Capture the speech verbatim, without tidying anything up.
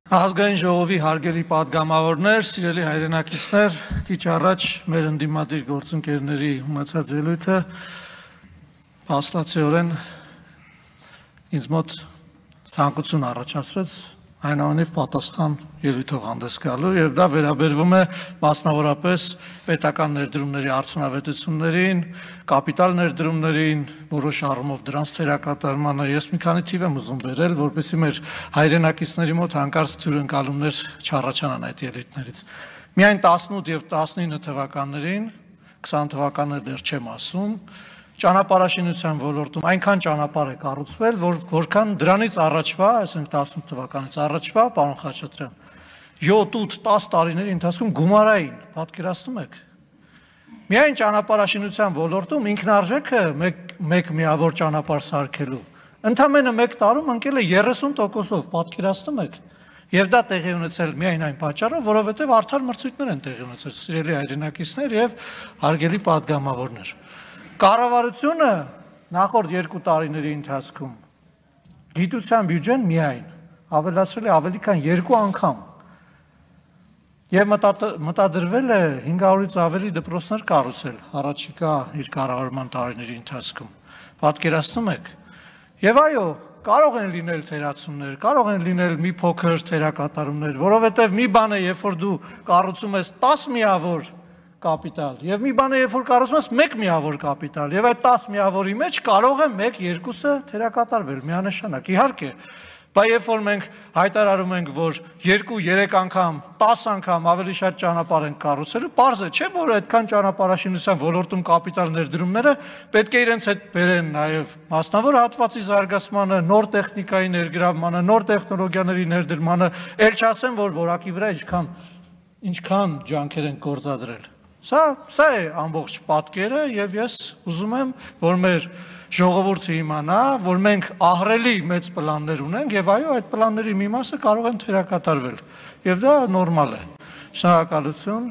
Ազգային ժողովի հարգելի պատգամավորներ, սիրելի հայրենակիցներ, քիչ առաջ մեր ընդդիմադիր գործընկերների ունեցած ելույթը փաստացիորեն ինձ մոտ ցանկություն առաջացրեց այնուամենայնիվ պատասխան ելույթով հանդես գալու եւ դա վերաբերվում է մասնավորապես պետական ներդրումների արդյունավետություններին, կապիտալ ներդրումներին, որոշ առումով դրանց թերակատարմանը ես մի քանի թիվ եմ ուզում բերել, որպեսզի մեր հայրենակիցների մոտ հանկարծ թյուրընկալումներ չառաջանան այդ ելույթներից։ Միայն տասնութ եւ տասնինը թվականներին, քսան թվականները դեռ չեմ ասում, ճանապարհաշինության ոլորտում այնքան ճանապարհ է կառուցվել, որ որքան դրանից առաջվա, այսինքն տասնութ թվականից առաջվա, պարոն Խաչատրյան, յոթ ութ դես տարիների ընթացքում գումարային, պատկերացնում եք։ Միայն ճանապարհաշինության ոլորտում ինքնարժեքը մեկ միավոր ճանապարհ սարքելու ընդամենը մեկ տարում ընկել է երեսուն տոկոսով, պատկերացնում եք։ Եվ դա տեղի ունեցել միայն այն պատճառով, որովհետև արդար մրցույթներ են տեղի ունեցել, սիրելի հայրենակիցներ եւ հարգելի պատգամավորներ։ Կառավարությունը նախորդ երկու տարիների ընթացքում գիտության բյուջեն միայն ավելացրել է ավելի քան երկու անգամ եւ մտադրվել է հինգ հարյուրից ավելի դպրոցներ կառուցել առաջիկա իր կառավարման տարիների ընթացքում։ Պատկերացնում եք։ Եվ այո, կարող են լինել թերացումներ, կարող են լինել մի փոքր թերակատարումներ, որովհետեւ մի բան է, երբ որ դու կառուցում ես տաս միավոր կապիտալ եւ մի բան է, երբ որ կառուցում ես մեկ միավոր կապիտալ եւ այդ տաս միավորի մեջ կարող է մեկ երկուսը թերակատարվել միանշանակ։ Իհարկե, բայց երբ որ մենք հայտարարում ենք, որ երկու երեք անգամ, տաս անգամ ավելի շատ ճանապարհ են կառուցելու, պարզ է, չէ՞ որ այդքան ճանապարհաշինության ոլորտում կապիտալ ներդրումները պետք է իրենց հետ բերեն նաեւ մասնավոր հատվածի զարգացմանը, նոր տեխնիկայի ներգրավմանը, նոր տեխնոլոգիաների ներդրմանը, ել չասեմ, որ որակի վրա ինչքան ինչքան ջանքեր են գործադրել։ Սա սա է ամբողջ պատկերը եւ ես ուզում եմ, որ մեր ժողովուրդը իմանա, որ մենք ահռելի մեծ պլաններ ունենք եւ այո, այդ պլանների մի մասը կարող են թերակատարվել եւ դա նորմալ է։ Շնորհակալություն։